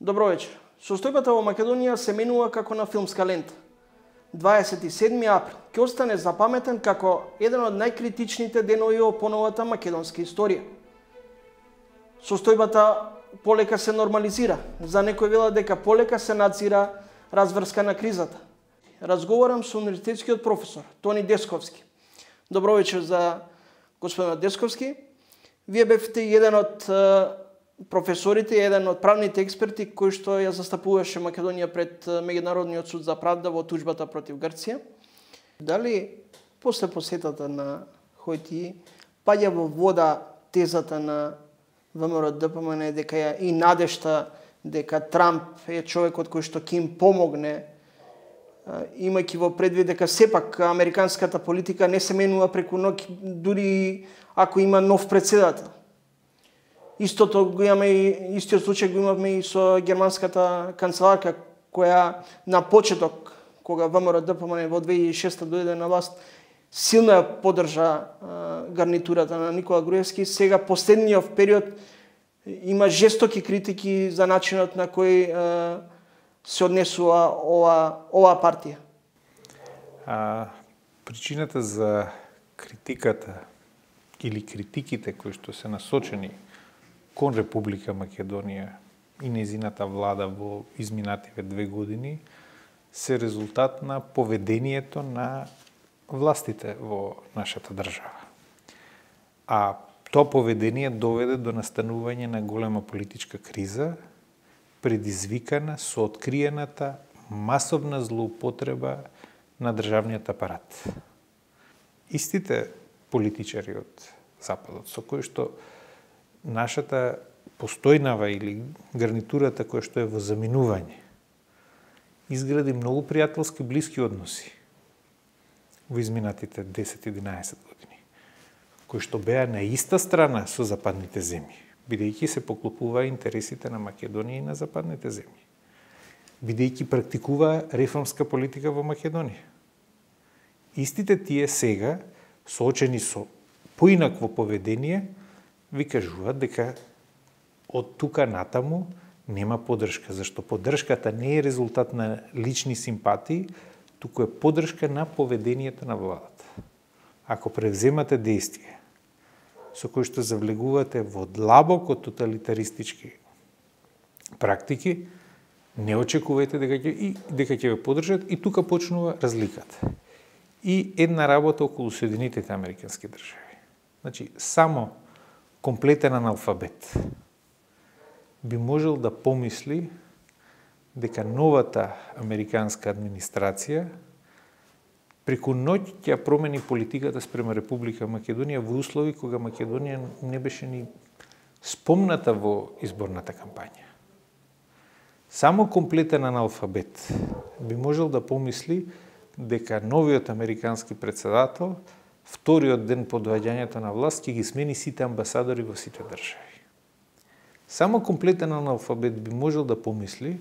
Добро вечер. Состојбата во Македонија се менува како на филмска лента. 27. април ќе остане запаметен како еден од најкритичните денови во поновата македонска историја. Состојбата полека се нормализира. За некој велат дека полека се надзира разврска на кризата. Разговарам со универзитетскиот професор Тони Десковски. Добро вечер за господинот Десковски. Вие бевте еден од професорите, еден од правните експерти кој што ја застапуваше Македонија пред Меѓународниот суд за правда во туџбата против Грција. Дали после посетата на Хојти паѓа во вода тезата на ВМРО-ДПМН дека ја и надежта дека Трамп е човекот кој што ќе им помогне, имајќи во предвид дека сепак американската политика не се менува преку ноќ, дури ако има нов председател. Истото го имаме и истиот случај го имаме и со германската канцеларка која на почеток кога ВМРО-ДПМН во 2006 дојде на власт силно ја поддржа гарнитурата на Никола Груевски. Сега последниот период има жестоки критики за начинот на кој се однесува ова партија. Причината за критиката или критиките кои што се насочени кон Република Македонија и незината влада во изминативе 2 години се резултат на поведението на властите во нашата држава. А тоа поведение доведе до настанување на голема политичка криза, предизвикана со откриената масовна злоупотреба на државниот апарат. Истите политичари од Западот, со кои што нашата постојнава или гарнитурата која што е во заминување, изгради многу пријателски блиски односи во изминатите 10-11 години, кои што беа на иста страна со западните земји, бидејќи се поклопуваа интересите на Македонија и на западните земји, бидејќи практикуваа реформска политика во Македонија. Истите тие сега, соочени со поинакво поведение, ви кажуваат дека од тука натаму нема поддршка, зашто поддршката не е резултат на лични симпатии, туку е поддршка на поведението на владата. Ако превземате действие со кои што завлегувате во длабоко тоталитаристички практики, не очекувајте дека ќе ве поддржат и тука почнува разликата. И една работа околу Соединетите Американски држави. Значи, само комплетен аналфабет би можел да помисли дека новата американска администрација преку ноќ ќе промени политиката спрема Република Македонија во услови кога Македонија не беше ни спомната во изборната кампања. Само комплетен аналфабет би можел да помисли дека новиот американски председател вториот ден по доаѓањето на власт ќе ги смени сите амбасадори во сите држави. Само комплетен аналфабет би можел да помисли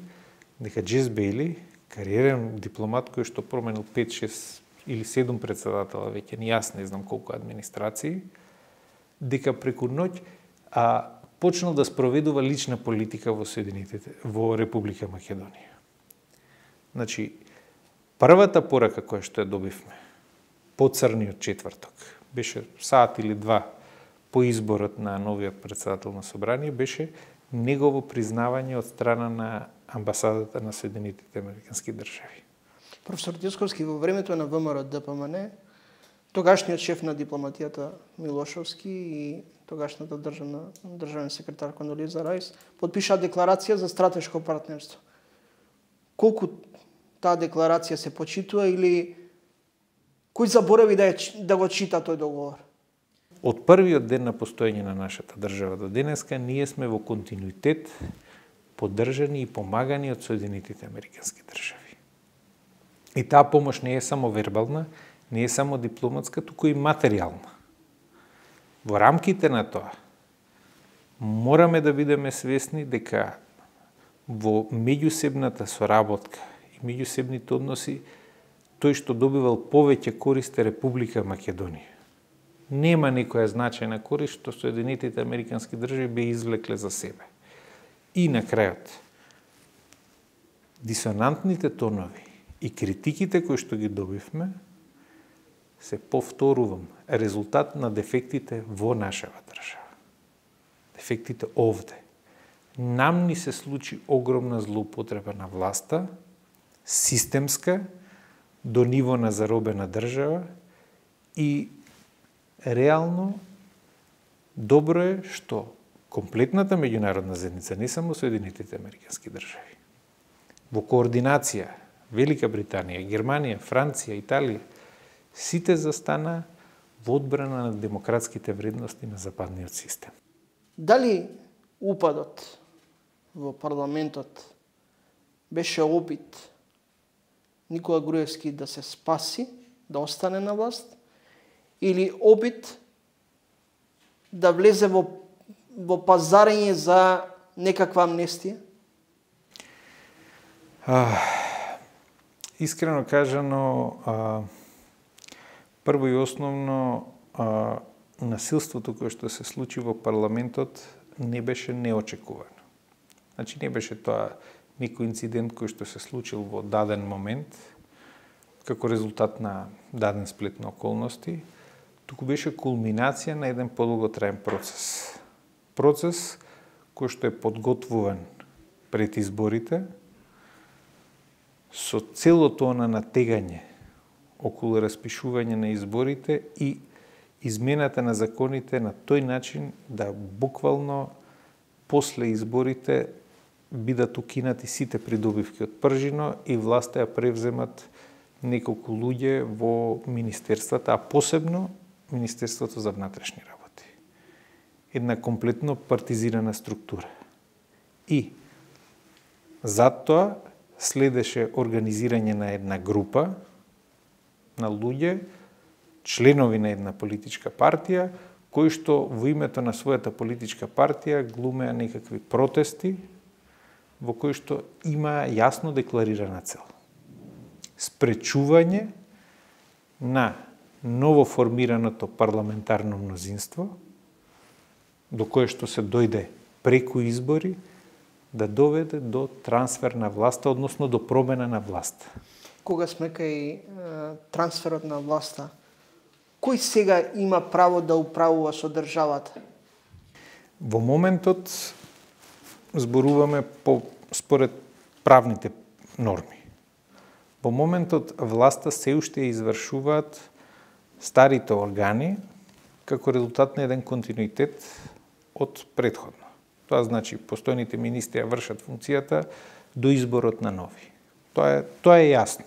дека Джес Бејли, кариерен дипломат кој што променил 5, 6 или 7 председатела, веќе ни јас не знам колку администрации, дека преку ноќ почнал да спроведува лична политика во Република Македонија. Значи, првата порака која што ја добивме по црниот четврток, беше саат или 2 по изборот на новиот председател на собрание, беше негово признавање од страна на амбасадата на Соединетите Американски држави. Професор Десковски, во времето на ВМРО-ДПМН, тогашниот шеф на дипломатијата Милошовски и тогашната државен секретар Кондолиза Рајс подпишаа декларација за стратешко партнерство. Колку таа декларација се почитува или кој заборави да го чита тој договор? Од првиот ден на постоење на нашата држава до денеска, ние сме во континуитет поддржани и помагани од Соединетите Американски држави. И таа помош не е само вербална, не е само дипломатска, туку и материјална. Во рамките на тоа, мораме да бидеме свесни дека во меѓусебната соработка и меѓусебните односи, тој што добивал повеќе корист е Република Македонија. Нема некоја значајна корист што Соединетите Американски држави би извлекле за себе. И на крајот, дисонантните тонови и критиките кои што ги добивме се, повторувам, резултат на дефектите во нашава држава. Дефектите овде. Нам ни се случи огромна злоупотреба на власта, системска, до ниво на заробена држава и реално добро е што комплетната меѓународна заедница, не само Соединетите американски држави, во координација Велика Британија, Германија, Франција, Италија, сите застана во одбрана на демократските вредности на западниот систем. Дали упадот во парламентот беше опит Никола Груевски да се спаси, да остане на власт, или опит да влезе во пазарење за некаква амнестија? Искрено кажано, прво и основно, насилството кое што се случи во парламентот не беше неочекувано. Значи не беше тоа некој инцидент кој што се случил во даден момент, како резултат на даден сплет на околности, туку беше кулминација на еден подолготраен процес. Процес кој што е подготвуван пред изборите, со целото на натегање околу распишување на изборите и измената на законите на тој начин да буквално после изборите бидат укинати сите придобивки од пржино и власта ја превземат неколку луѓе во министерствата, а посебно Министерството за внатрешни работи. Една комплетно партизирана структура. И затоа следеше организирање на една група на луѓе, членови на една политичка партија, кои што во името на својата политичка партија глумеа некакви протести, во кои што има јасно декларирана цел. Спречување на новоформираното парламентарно мнозинство, до кое што се дојде преку избори, да доведе до трансфер на власта, односно до промена на власта. Кога сме кај трансферот на власта, кој сега има право да управува со државата? Во моментот зборуваме според правните норми. Во моментот власта се уште извршуваат старите органи како резултат на еден континуитет од претходно. Тоа значи постојните министри ја вршат функцијата до изборот на нови. Тоа е јасно.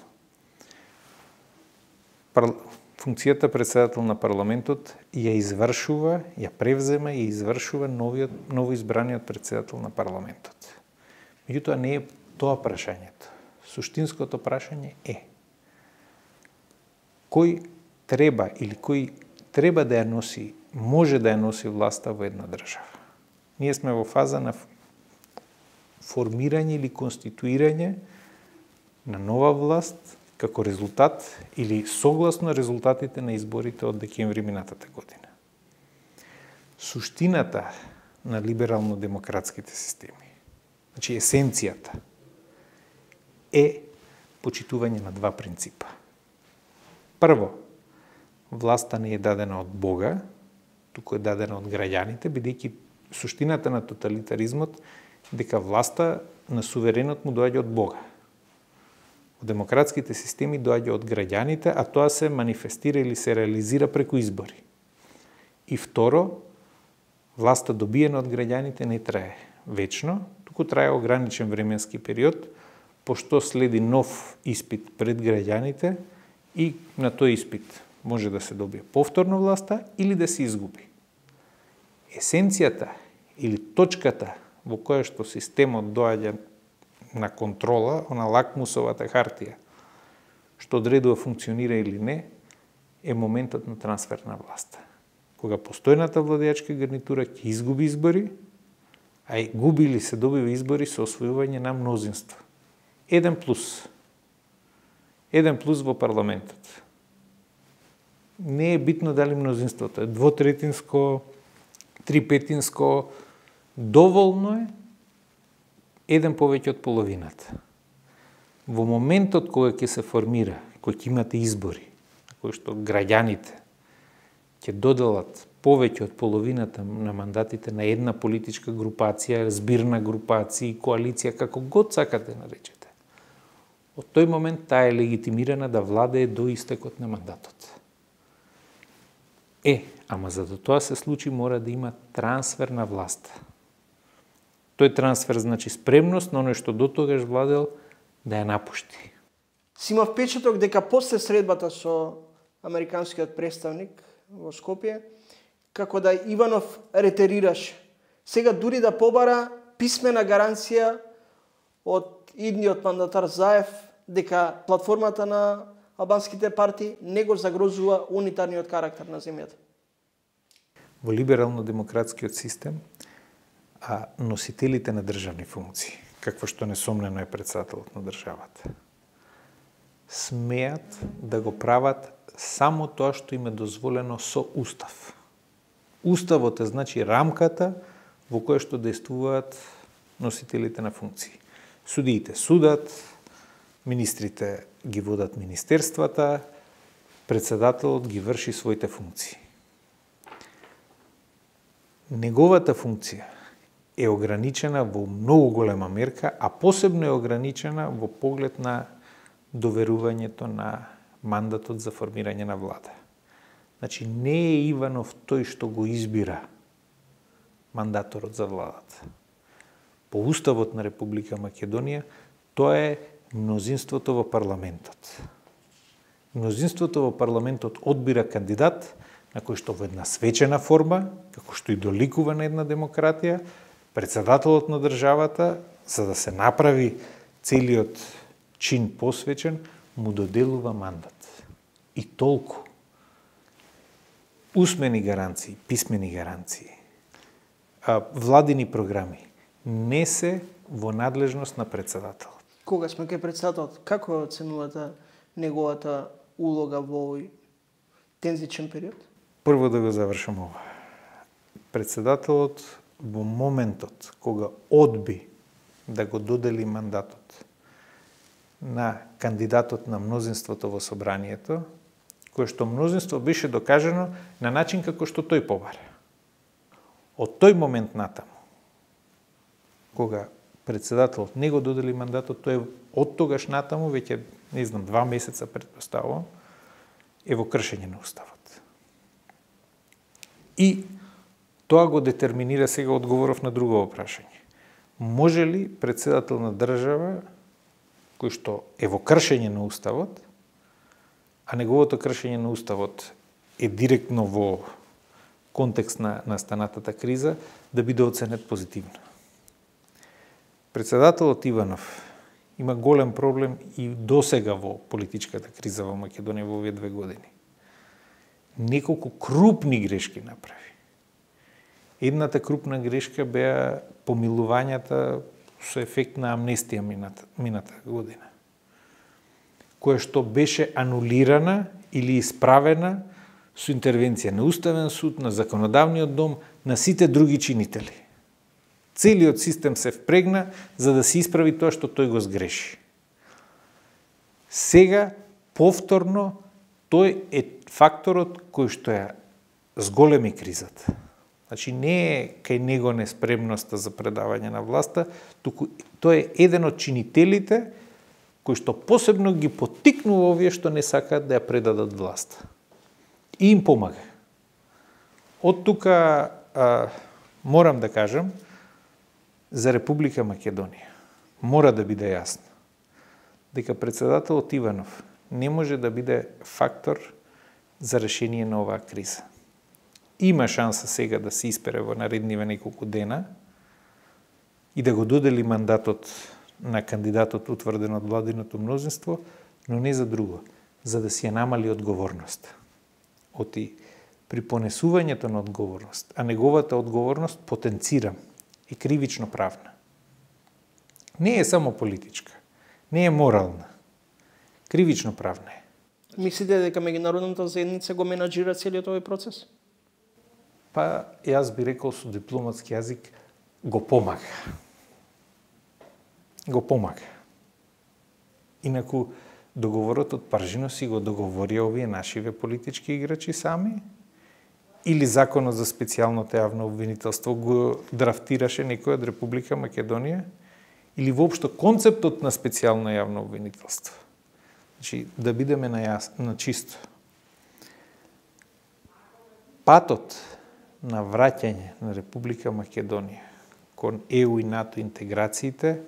Функцијата председател на парламентот ја извршува, ја превзема и извршува новоизбраниот председател на парламентот. Меѓутоа не е тоа прашањето. Суштинското прашање е кој треба или кој треба да ја носи, може да ја носи власта во една држава. Ние сме во фаза на формирање или конституирање на нова власт како резултат или согласно резултатите на изборите од декември минатата година. Суштината на либерално-демократските системи, значи есенцијата, е почитување на два принципа. Прво, власта не е дадена од Бога, туку е дадена од граѓаните, бидејќи суштината на тоталитаризмот дека власта на суверенот му доаѓа од Бога. Во демократските системи доаѓа од граѓаните, а тоа се манифестира или се реализира преку избори. И второ, власта добиена од граѓаните не трае вечно, туку трае ограничен временски период, пошто следи нов испит пред граѓаните и на тој испит може да се добие повторно власта или да се изгуби. Есенцијата или точката во која што системот доаѓа на контрола, на лакмусовата хартија, што одредува функционира или не, е моментот на трансфер на власта. Кога постојната владеачка гарнитура ќе изгуби избори, а и губи или се добива избори со освојување на мнозинство. Еден плюс во парламентот. Не е битно дали мнозинството е двотретинско, трипетинско, доволно е еден повеќе од половината. Во моментот кога ќе се формира, кога ќе имате избори, кои што граѓаните ќе доделат повеќе од половината на мандатите на една политичка групација, збирна групација, коалиција, како год сакате наречете. Од тој момент таа е легитимирана да владее до истекот на мандатот. Ама за да тоа се случи мора да има трансфер на власт. Тој трансфер значи спремност на оној што дотогаш владел да ја напушти. Си има впечаток дека после средбата со американскиот представник во Скопје, како да Иванов ретерираше. Сега дури да побара писмена гаранција од идниот мандатар Заев дека платформата на албанските партии не го загрозува унитарниот карактер на земјата. Во либерално-демократскиот систем, носителите на државни функции, какво што несомнено е председателот на државата, смеат да го прават само тоа што им е дозволено со устав. Уставот е значи рамката во која што действуваат носителите на функции. Судиите судат, министрите ги водат министерствата, председателот ги врши своите функции. Неговата функција е ограничена во многу голема мерка, а посебно е ограничена во поглед на доверувањето на мандатот за формирање на влада. Значи, не е Иванов тој што го избира мандаторот за владата. По Уставот на Република Македонија, тоа е мнозинството во парламентот. Мнозинството во парламентот одбира кандидат на кој што во една свечена форма, како што и доликува на една демократија, председателот на државата, за да се направи целиот чин посвечен, му доделува мандат. И толку. Усмени гаранции, писмени гаранции, владини програми не се во надлежност на председателот. Кога сме кај председателот, како оценувате неговата улога во овој тензичен период? Прво да го завршам ова. Председателот во моментот кога одби да го додели мандатот на кандидатот на мнозинството во собранието, кое што мнозинство беше докажано на начин како што тој побара. Од тој момент натаму, кога председателот не го додели мандатот, тој од тогаш натаму, веќе, 2 месеца претпоставувам, е во кршење на Уставот. И тоа го детерминира, сега одговоров на друго прашање. Може ли председател на држава, кој што е во кршење на Уставот, а неговото кршење на Уставот е директно во контекст на настанатата криза, да биде оценет позитивно? Председателот Иванов има голем проблем и досега во политичката криза во Македонија во овие 2 години. Неколку крупни грешки направи. Едната крупна грешка беа помилувањата со ефект на амнестија мината година, која што беше анулирана или исправена со интервенција на Уставен суд, на Законодавниот дом, на сите други чинители. Целиот систем се впрегна за да се исправи тоа што тој го сгреши. Сега, повторно, тој е факторот кој што ја зголеми кризата. Значи, не е кај него неспремноста за предавање на власта, туку тој е еден од чинителите кој што посебно ги поттикнува овие што не сакаат да ја предадат власта. И им помага. Од тука морам да кажам, за Република Македонија мора да биде јасно дека председателот Иванов не може да биде фактор за решение на оваа криза. Има шанса сега да се испере во наредниве неколку дена и да го додели мандатот на кандидатот утврден од владиното мнозинство, но не за друго, за да си ја намали одговорност. Оти при понесувањето на одговорност, а неговата одговорност, потенцирам, е кривично правна. Не е само политичка, не е морална, кривично правна е. Мислите дека меѓународната заедница го менаџира целиот овој процес? Па, јас би рекол со дипломатски јазик, го помага. Го помага. Инаку, договорот од Паржино си го договорија овие нашиве политички играчи сами, или законот за специјалното јавно обвинителство го драфтираше некој од Република Македонија, или воопшто концептот на специјално јавно обвинителство. Значи, да бидеме на чисто. Патот на враќање на Република Македонија кон ЕУ и НАТО интеграциите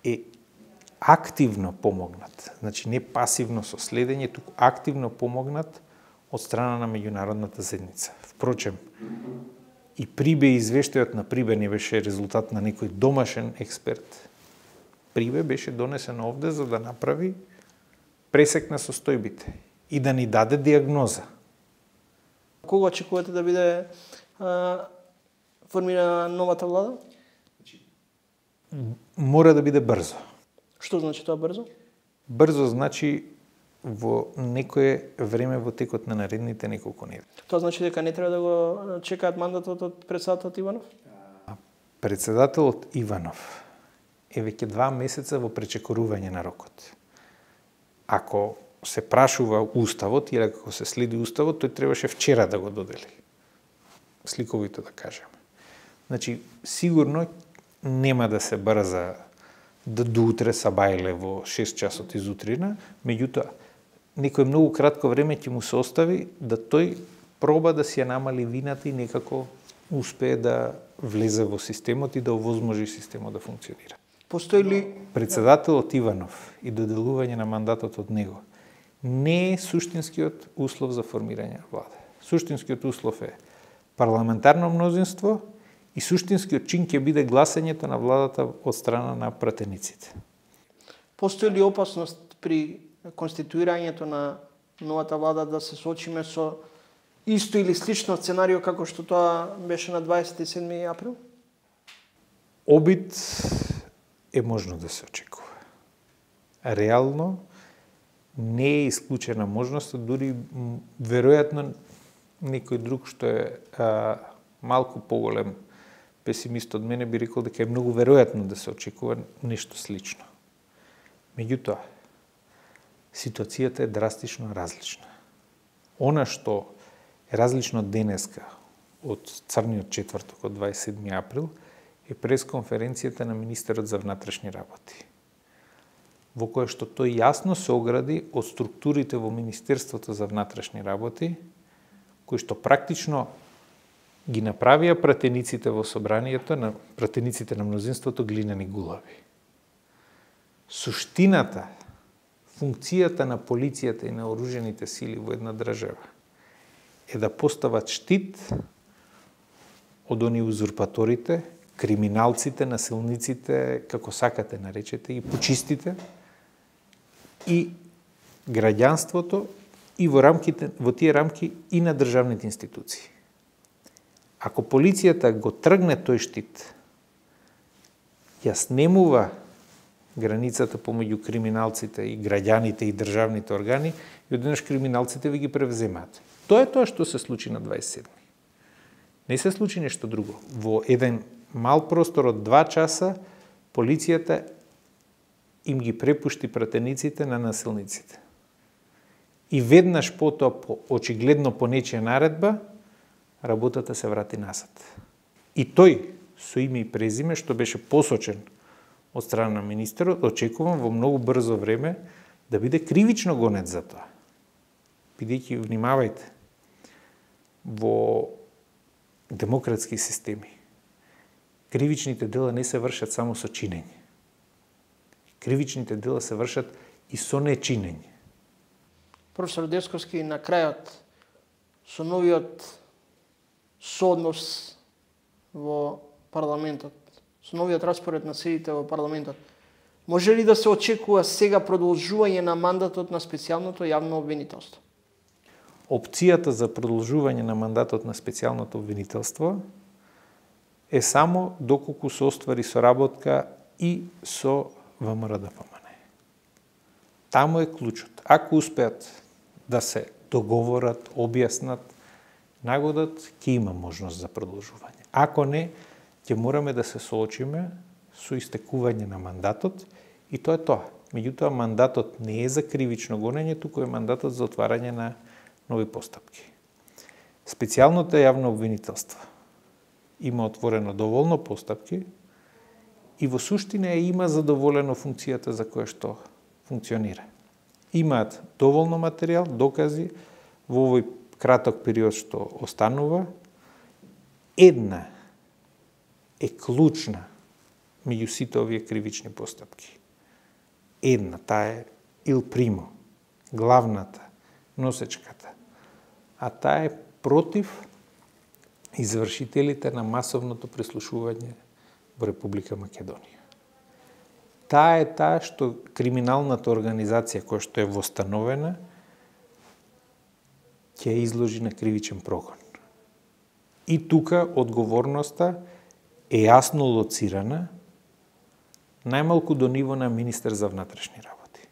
е активно помогнат. Значи, не пасивно со следење, туку активно помогнат од страна на меѓународната заедница. Впрочем, и Прибе извештајот на Прибе не беше резултат на некој домашен експерт. Прибе беше донесен овде за да направи пресек на состојбите и да ни даде диагноза. Кога очекувате да биде формирана новата влада? Мора да биде брзо. Што значи тоа брзо? Брзо значи во некое време во текот на наредните неколку недели. Тоа значи дека не треба да го чекаат мандатот од председателот Иванов? Председателот Иванов е веќе 2 месеца во пречекорување на рокот. Ако се прашува уставот или ако се следи уставот, тој требаше вчера да го додели. Сликовито да кажеме. Значи, сигурно нема да се брза да до утре сабајле во 6 часот изутрина, меѓутоа, некој многу кратко време ќе му се остави да тој проба да си ја намали вината и некако успее да влезе во системот и да овозможи системот да функционира. Постои ли Председателот Иванов и доделување на мандатот од него не е суштинскиот услов за формирање на влада. Суштинскиот услов е парламентарно мнозинство и суштинскиот чин ќе биде гласањето на владата од страна на пратениците. Постои ли опасност при конституирањето на новата влада да се соочиме со исто или слично сценарио како што тоа беше на 27 април? Обид е можно да се очекува. Реално не е исклучена можност, дури веројатно некој друг што е малку поголем песимист од мене би рекол дека е многу веројатно да се очекува нешто слично. Меѓутоа, ситуацијата е драстично различна. Она што е различно денеска од црниот четврток од 27 април е пресконференцијата на министерот за внатрешни работи, во која што тој јасно се огради од структурите во Министерството за внатрешни работи, кои што практично ги направија пратениците во собранието, на пратениците на мнозинството глинени гулави. Суштината, функцијата на полицијата и на оружените сили во една држава е да постават штит од они узурпаторите, криминалците, насилниците, како сакате наречете, и почистите, и граѓанството, и во тие рамки и на државните институции. Ако полицијата го тргне тој штит, ја снемува границата помеѓу криминалците и граѓаните и државните органи, и одеднаш криминалците ви ги превземаат. Тоа е тоа што се случи на 27. Не се случи нешто друго. Во еден мал простор од 2 часа, полицијата им ги препушти пратениците на насилниците. И веднаш потоа, очигледно по нечија наредба, работата се врати назад. И тој, со име и презиме, што беше посочен од страна на министерот, очекувам во многу брзо време да биде кривично гонет за тоа. Бидејќи, внимавајте, во демократски системи кривичните дела не се вршат само со чинење. Кривичните дела се вршат и со нечинење. Професор Десковски, на крајот, со новиот сооднос во парламентот, со новиот распоред на седите во парламентот, може ли да се очекува сега продолжување на мандатот на специјалното јавно обвинителство? Опцијата за продолжување на мандатот на специјалното обвинителство е само доколку се оствари соработка и со ВМРО-ДПМНЕ. Таму е клучот. Ако успеат да се договорат, објаснат, нагодат, ќе има можност за продолжување. Ако не, ќе мораме да се соочиме со истекување на мандатот и тоа е тоа. Меѓутоа, мандатот не е за кривично гонење, туку е мандатот за отварање на нови постапки. Специјалното јавно обвинителство има отворено доволно постапки и во суштина има задоволено функцијата за која што функционира. Имаат доволно материјал, докази во овој краток период што останува. Една е клучна меѓу сите овие кривични постапки. Една, таа е il primo, главната, носечката. А таа е против извршителите на масовното прислушување во Република Македонија. Таа е таа што криминалната организација која што е востановена ќе изложи на кривичен прогон. И тука одговорноста е јасно лоцирана, најмалку до ниво на министер за внатрешни работи.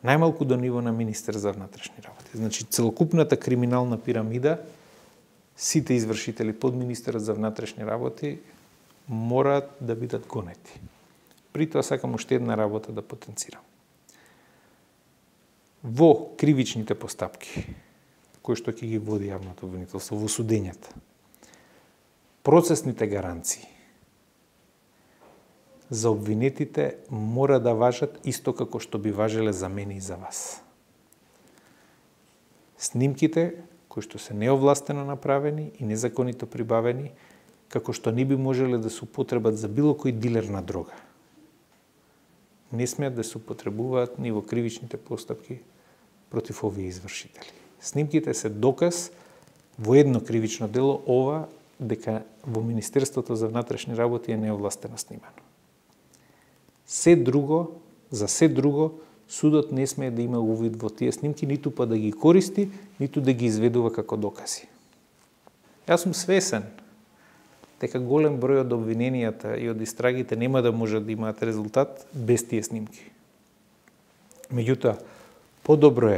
Најмалку до ниво на министер за внатрешни работи. Значи, целокупната криминална пирамида, сите извршители под министерот за внатрешни работи мораат да бидат гонети. При тоа сакам уште една работа да потенцирам. Во кривичните постапки, кои што ќе ги води јавното обвинителство, во судењата, процесните гаранции за обвинетите мора да важат исто како што би важеле за мене и за вас. Снимките кои што се неовластено направени и незаконито прибавени, како што не би можеле да се употребат за било кој дилер на дрога, не смеат да се употребуваат ни во кривичните постапки против овие извршители. Снимките се доказ во едно кривично дело, ова дека во Министерството за внатрешни работи е неовластено снимано. За се друго, судот не смее да има увид во тие снимки, ниту па да ги користи, ниту да ги изведува како докази. Јас сум свесен дека голем број од обвиненијата и од истрагите нема да можат да имаат резултат без тие снимки. Меѓутоа, подобро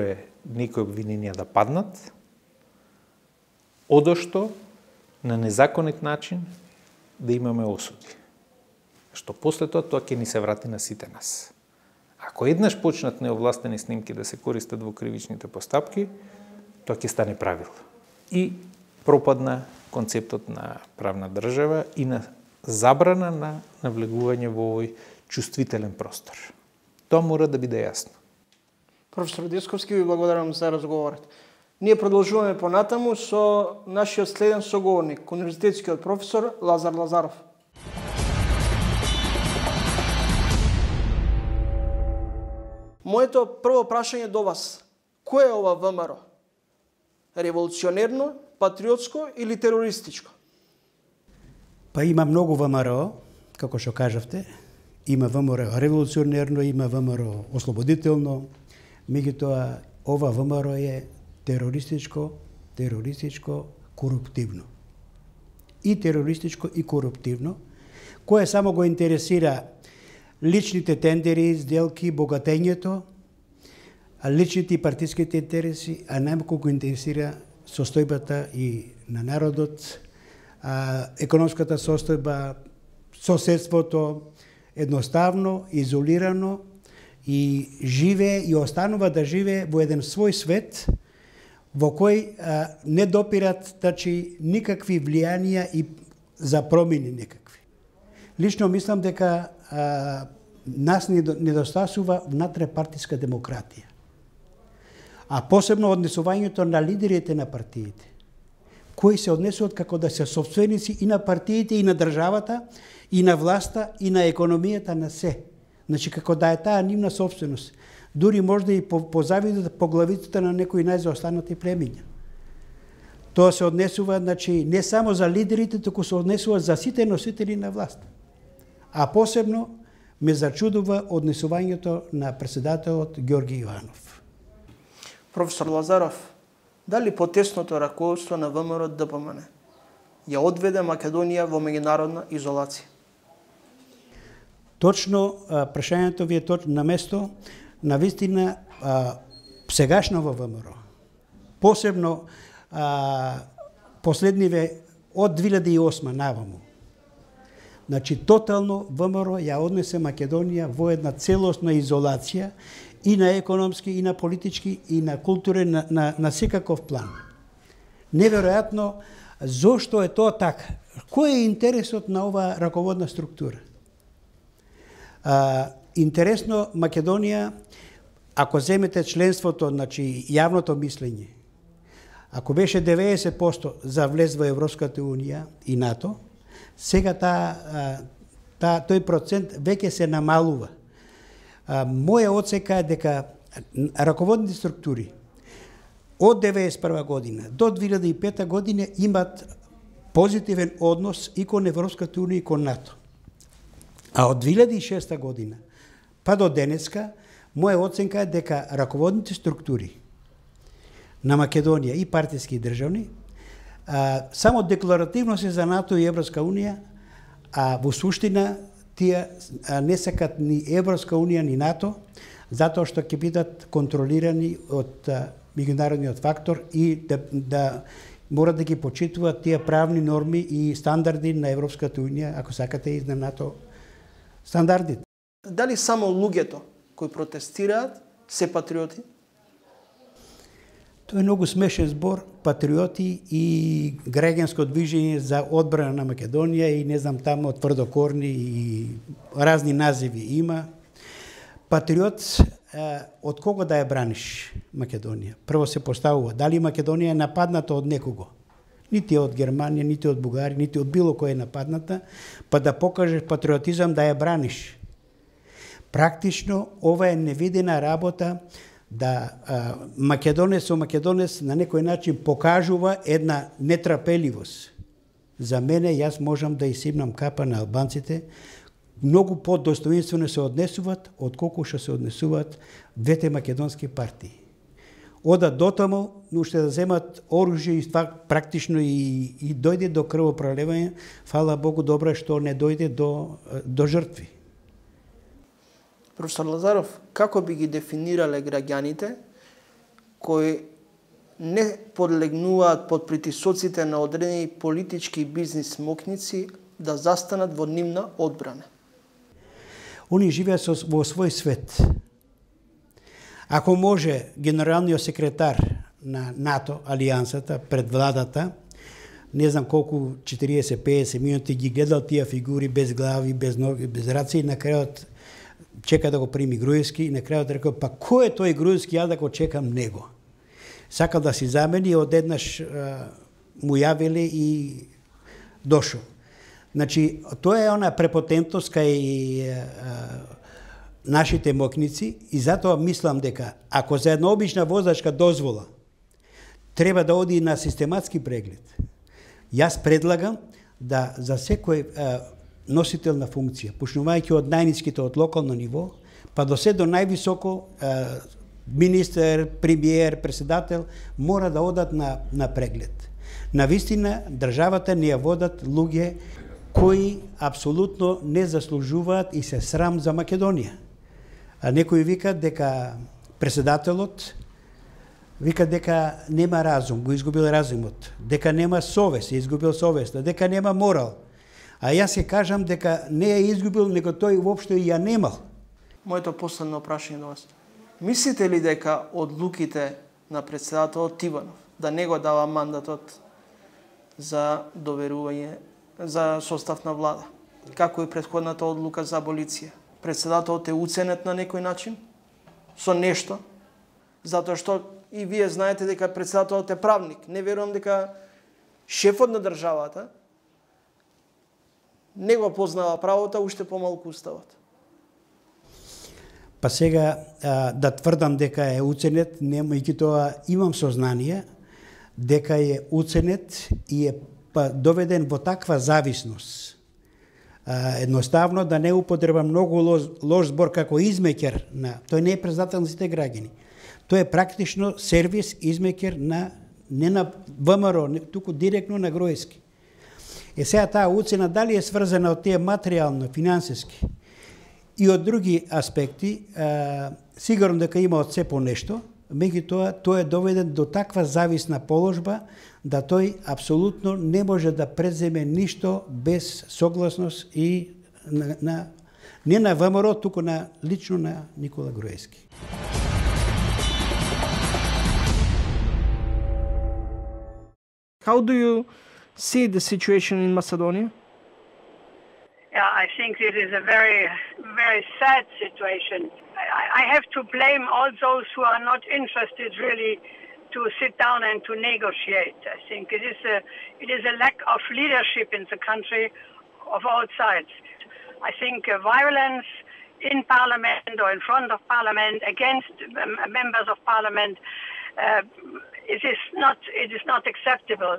е некои обвиненија да паднат, одошто на незаконит начин да имаме осуди. Што после тоа ќе ни се врати на сите нас. Ако еднаш почнат неовластени снимки да се користат во кривичните постапки, тоа ќе стане правило. И пропадна концептот на правна држава и на забрана на навлегување во овој чувствителен простор. Тоа мора да биде јасно. Професор Десковски, ви благодарам за разговорот. Ние продолжуваме понатаму со нашиот следен соговорник, универзитетскиот професор Лазар Лазаров. Моето прво прашање до вас. Кој е ова ВМРО? Револуционерно, патриотско или терористичко? Па има многу ВМРО, како што кажавте. Има ВМРО револуционерно, има ВМРО ослободително. Меѓутоа, ова ВМРО е терористичко, коруптивно. И терористичко, и коруптивно, кое само го интересира личните тендери, сделки, богатењето, личните и партиските интереси, а најмалку го интересира состојбата и на народот, економската состојба, соседството, едноставно, изолирано и живее и останува да живее во еден свој свет во кој не допират никакви влијанија и за промени некакви. Лично мислам дека нас недостасува внатре-партиска демократија. А посебно однесувањето на лидерите на партиите, кои се однесуваат како да се собственици и на партиите, и на државата, и на власта, и на економијата, на се. Значи, како да е таа нивна собственост. Дури можда и позавидат по главицата на некои најзаостанати племиња. Тоа се однесува, значи, не само за лидерите, туку се однесува за сите носители на власт. А посебно ме зачудува однесувањето на председателот Ѓорги Јованов. Професор Лазаров, дали потесното раководство на ВМРО ДПМН ја одведе Македонија во меѓународна изолација? Точно, прашањето ви е точно на место. Навистина, сегашно во ВМРО, посебно последниве од 2008 наваму, Значи, тотално ВМРО ја однесе Македонија во една целосна изолација и на економски, и на политички, и на културен, на секаков план. Неверојатно, зошто е тоа така? Кој е интересот на оваа раководна структура? Интересно, Македонија, ако земете членството, значи јавното мислење, ако беше 90% за влез во Европската Унија и НАТО, сега тој процент веќе се намалува. Моја оцека е дека раководните структури од 1991 година до 2005 година имат позитивен однос и кон Европската Унија и кон НАТО. А од 2006 година па до денеска, моја оценка е дека раководните структури на Македонија и партиски и државни само декларативно се за НАТО и Европска Унија, а во суштина тие не сакат ни Европска Унија ни НАТО, затоа што ќе бидат контролирани од меѓународниот фактор и да мора да ги почитуваат тие правни норми и стандарди на Европската Унија, ако сакате и на НАТО стандардите. Дали само луѓето кои протестираат се патриоти? Тоа е многу смешен збор, патриоти и граѓанско движење за одбрана на Македонија и не знам тамо тврдокорни и разни називи има. Патриот од кого да ја браниш Македонија? Прво се поставува дали Македонија е нападната од некого? Нити од Германија, нити од Бугарија, нити од било кој е нападната, па да покажеш патриотизам да ја браниш. Практично ова е невидена работа да македонец на некој начин покажува една нетрапеливост. За мене, јас можам да изсипнам капа на албанците, многу подостоинствено се однесуваат отколку што се однесуваат двете македонски партии. Одат дотаму, уште да земат оружје и ствар практично и дојде до крвопроливање, фала Богу добро што не дојде до жртви. Професор Лазаров, како би ги дефинирале граѓаните кои не подлегнуваат под притисоците на одредени политички и бизнис мокници да застанат во нивна одбрана? Они живеат во свој свет. Ако може генералниот секретар на НАТО, алијансата, пред владата, не знам колку 40-50 минути ги гледал тие фигури без глави, без ноги, без раци и на крајот чека да го прими Груевски и на крајот рекол, па кој е тој Груевски, ја да го чекам него. Сакал да си замени, одеднаш му јавиле и дошол. Значи, тоа е она препотентност кај нашите мокници и затоа мислам дека ако за една обична возачка дозвола треба да оди на систематски преглед, јас предлагам да за секој носител на функција, почнувајќи од најниските од локално ниво, па до се до највисоко министер, премиер, председател, мора да одат на преглед. Навистина, државата не ја водат луѓе кои апсолутно не заслужуваат и се срам за Македонија. А некои викат дека председателот вика дека нема разум, го изгубил разумот, дека нема совест, изгубил совеста, дека нема морал. А јас ќе кажам дека не ја изгубил, него тој воопшто и ја немал. Моето последно прашање до вас. Мислите ли дека одлуките на председателот Тиванов да не го дава мандатот за доверување за состав на влада, како и претходната одлука за аболиција, председателот е уценет на некој начин со нешто, затоа што и вие знаете дека председателот е правник. Не верувам дека шефот на државата не го познава правото, уште помалку уставот. Па сега да тврдам дека е уценет, немајќи тоа имам сознание дека е уценет и е доведен во таква зависност. Едноставно да не употреба многу лош збор како измекер на тој не е председател на сите граѓани. Тој е практично сервис измекер не на ВМРО, туку директно на Груевски. Сега таа уцена дали е сврзана од тие материјално, финансиски и од други аспекти, сигурно дека има од се по нешто, меѓутоа тој е доведен до таква зависна положба да тој апсолутно не може да преземе ништо без согласност и не на ВМРО, туку лично на Никола Груевски. How do you see the situation in Macedonia? Yeah, I think this is a very, very sad situation. I have to blame all those who are not interested really to sit down and to negotiate. I think it is a lack of leadership in the country of all sides. I think violence in Parliament or in front of Parliament against members of Parliament it is not acceptable.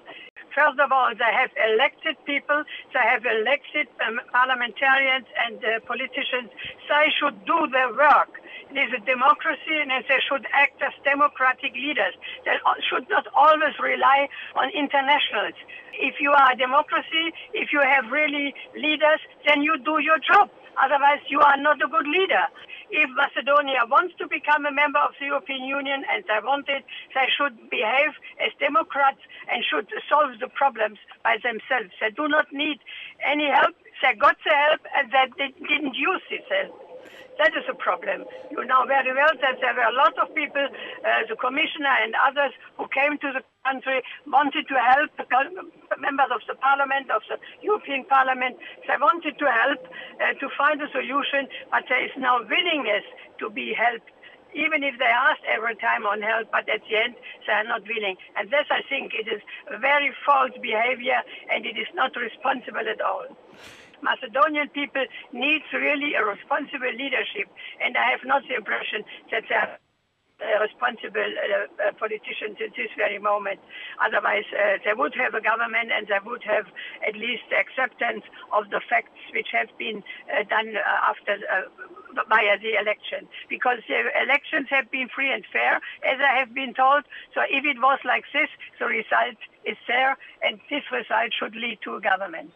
First of all, they have elected people, they have elected parliamentarians and politicians. They should do their work. It is a democracy and they should act as democratic leaders. They should not always rely on internationals. If you are a democracy, if you have really leaders, then you do your job. Otherwise, you are not a good leader. If Macedonia wants to become a member of the European Union and they want it, they should behave as democrats and should solve the problems by themselves. They do not need any help. They got the help and they didn't use this help. That is a problem. You know very well that there were a lot of people, the commissioner and others who came to the country, wanted to help the members of the parliament, of the European Parliament. They wanted to help to find a solution, but there is no willingness to be helped. Even if they asked every time on help, but at the end they are not willing. And this, I think, it is very false behavior and it is not responsible at all. Macedonian people need really a responsible leadership, and I have not the impression that they are responsible politicians at this very moment. Otherwise, they would have a government and they would have at least the acceptance of the facts which have been done after via the election. Because the elections have been free and fair, as I have been told. So if it was like this, the result is there, and this result should lead to a government.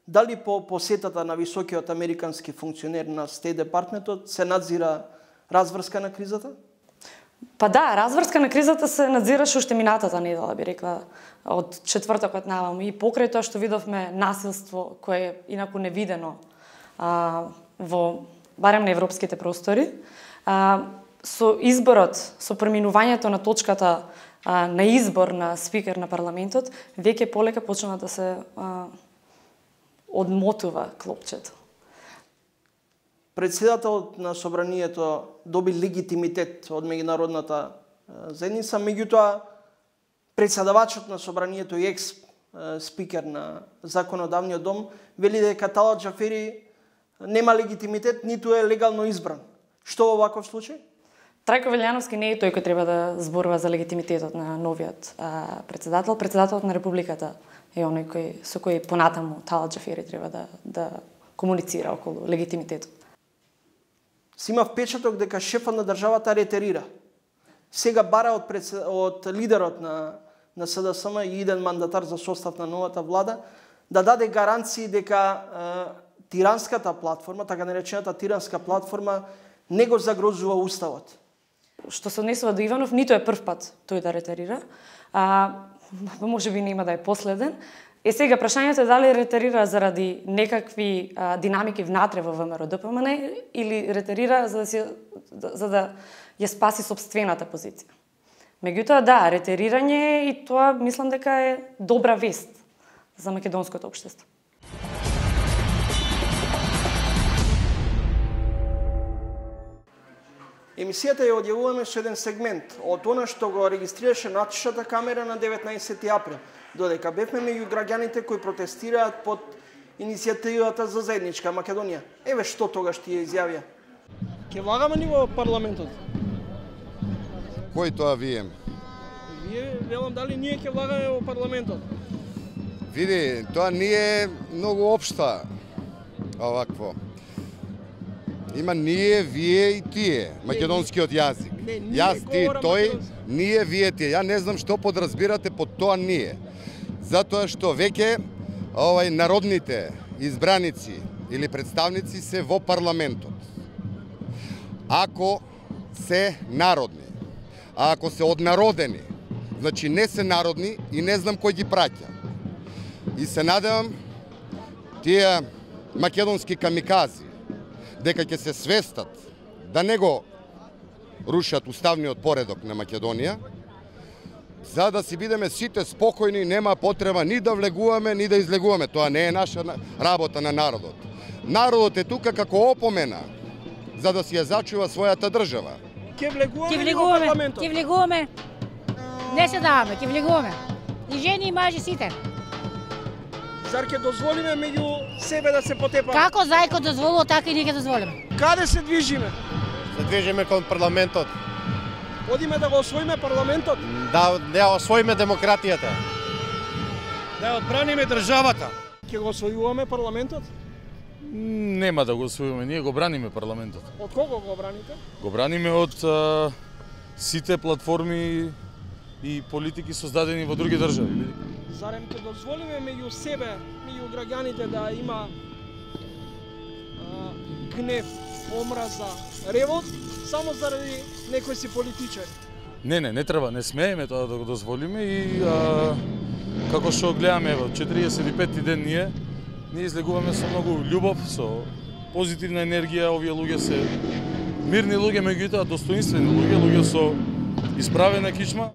Дали по посетата на високиот американски функционер на Стейт департментот се надзира разврска на кризата? Па да, разврска на кризата се надзираше уште минатата недела, би рекла, од четвртокот наваму, и покрај тоа што видовме насилство кое е инаку невидено во барем на европските простори, со изборот, со преминувањето на точката на избор на спикер на парламентот, веќе полека почна да се одмотува клопчето. Председателот на собранието доби легитимитет од меѓународната заедница, меѓутоа председавачот на собранието и екс-спикер на законодавниот дом вели дека Талат Џафери нема легитимитет, ниту е легално избран. Што во ваков случај? Трајко Велјановски не е тој кој треба да зборува за легитимитетот на новиот председател. Председателот на Републиката е оној со кој понатаму Талат Џафери треба да комуницира околу легитимитетот. Си има впечаток дека шефот на државата ретерира. Сега бара од лидерот на СДСМ и иден мандатар за состав на новата влада да даде гаранции дека тиранската платформа, така наречената тиранска платформа, не го загрозува уставот. Што се однесува до Иванов, ниту е прв пат тој да ретерира. Може би нема да е последен. Сега прашањето е дали ретерира заради некакви динамики внатре во ВМРО-ДПМН или ретерира за да ја спаси сопствената позиција. Меѓутоа да, ретерирање и тоа мислам дека е добра вест за македонското општество. Емисијата ја одјавуваме со еден сегмент од она што го регистрираше натишната камера на 19 април, додека бевме меѓу граѓаните кои протестираат под иницијативата за заедничка Македонија. Еве што тогаш тие изјавија. Ке влагаме ни во парламентот? Кој тоа вие? Вие, велам, дали ние ке влагаме во парламентот? Види, тоа не е многу општа овакво. Има ние, вие и тие, македонскиот јазик. Јас, ти, тој, ние, вие, тие. Ја не знам што подразбирате под тоа ние. Затоа што веќе народните избраници или представници се во парламентот, ако се народни, а ако се однародени, значи не се народни и не знам кој ги праќа. И се надевам тие македонски камикази дека ќе се свестат да не го рушат уставниот поредок на Македонија, за да си бидеме сите спокојни, нема потреба ни да влегуваме, ни да излегуваме. Тоа не е наша работа на народот. Народот е тука како опомена, за да си ја зачува својата држава. Ќе влегуваме во парламентот. Ќе влегуваме. Не се даваме, ќе влегуваме. И жени и мажи сите. Зар ќе дозволиме меѓу себе да се потепа? Како зајко дозволува, така и ние ќе дозволиме. Каде се движиме? Се движиме кон парламентот. Одиме да го освоиме парламентот? Да освоиме демократијата. Да одбраниме државата. Ќе го освојуваме парламентот? Нема да го освоиме, ние го браниме парламентот. Од кого го браните? Го браниме од сите платформи и политики создадени во други држави. Зарем ќе дозволиме меѓу себе, меѓу граѓаните да има гнев, омраза, ревот, само заради некои си политичари? Не треба, не смееме тоа да го дозволиме и како што гледаме во 45-ти ден ние излегуваме со многу љубов, со позитивна енергија, овие луѓе се мирни луѓе, меѓутоа достоинствени луѓе со исправена кичма.